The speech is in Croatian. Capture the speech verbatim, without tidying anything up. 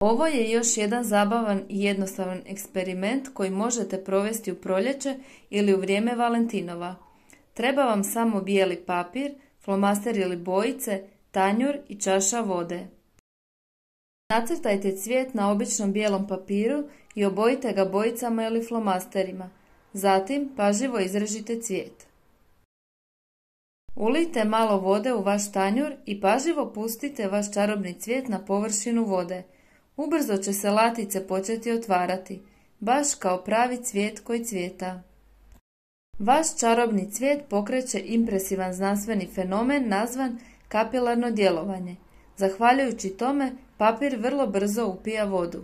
Ovo je još jedan zabavan i jednostavan eksperiment koji možete provesti u proljeće ili u vrijeme Valentinova. Treba vam samo bijeli papir, flomaster ili bojice, tanjur i čaša vode. Nacrtajte cvijet na običnom bijelom papiru i obojite ga bojicama ili flomasterima. Zatim pažljivo izrežite cvijet. Ulijte malo vode u vaš tanjur i pažljivo pustite vaš čarobni cvijet na površinu vode. Ubrzo će se latice početi otvarati, baš kao pravi cvijet koji cvijeta. Vaš čarobni cvijet pokreće impresivan znanstveni fenomen nazvan kapilarno djelovanje. Zahvaljujući tome, papir vrlo brzo upija vodu.